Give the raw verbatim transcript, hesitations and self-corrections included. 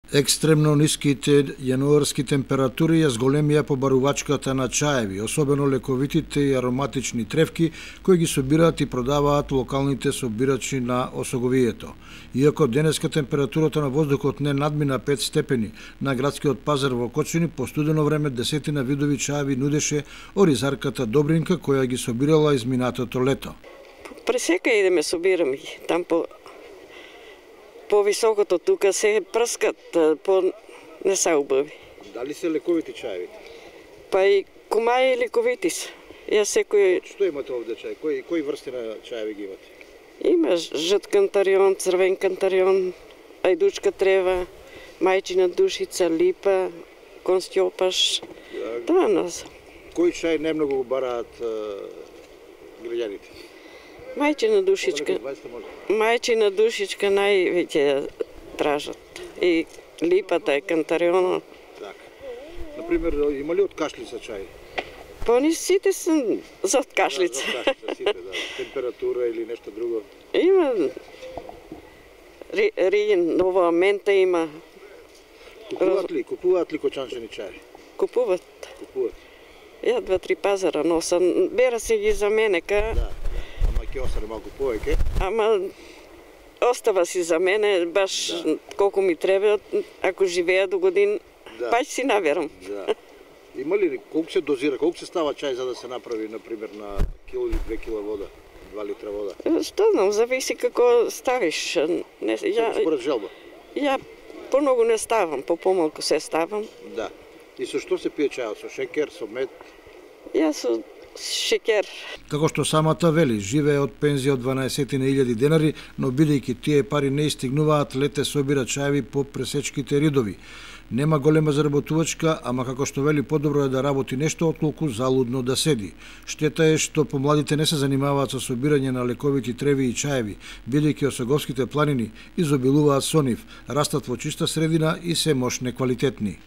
Екстремно ниските јануарски температури ја зголемија побарувачката на чаеви, особено лековитите и ароматични тревки кои ги собираат и продаваат локалните собирачи на осоговието. Иако денеска температурата на воздухот не надмина пет степени, на градскиот пазар во Кочани по студено време десетина видови чаеви нудеше оризарката Добринка која ги собирала изминатото лето. Пресека идеме собираме ги, там по По-високото тука се прскат, по не се убави. Дали се лековити чаевите? Па и кумаи лековити се. Ја секој... Што имате овде чај? Кои, кои врсти на чаеви ги имате? Има жут кантарион, црвен кантарион, ајдучка трева, мајчина душица, липа, констјопаш. Да. Тоа нас. Кој чај најмногу го бараат граѓаните? Мајчина душичка. Мајчина душичка највеќе ја тражат. И липата и кантарионот. Така. Например, има ли од кашлица чај? Па ни сите се за од кашлица. Да, за кашлица сите, да. Температура или нешто друго? Има рин, нова мента има. Купуваат ли, купуваат ли кочанчени чај? Купуваат. Купуваат. Ја два-три пазара носам. Бера се ги за мене, ка... Да. Ќе остане малку повеќе. Ама остава си за мене баш да. Колку ми треба, ако живеа до годин, да. Паќе си наверам. Да. Има ли колку се дозира, колку се става чај за да се направи например на кило или две кила вода, два литра вода? Што знам, зависи како ставиш. Не, ја, според желба. Ја помногу не ставам, по помалку се ставам. Да. И со што се пие чајот? Со шекер, со мед? Ја со шекер. Како што самата вели, живее од пензија од дванаесет илјади денари, но бидејќи тие пари не истигнуваат, лете собира чаеви по пресечките ридови. Нема голема заработувачка, ама како што вели, подобро е да работи нешто отколку залудно да седи. Штета е што помладите не се занимаваат со собирање на лековити треви и чаеви, бидејќи осоговските планини изобилуваат со нив, растат во чиста средина и се мощ неквалитетни.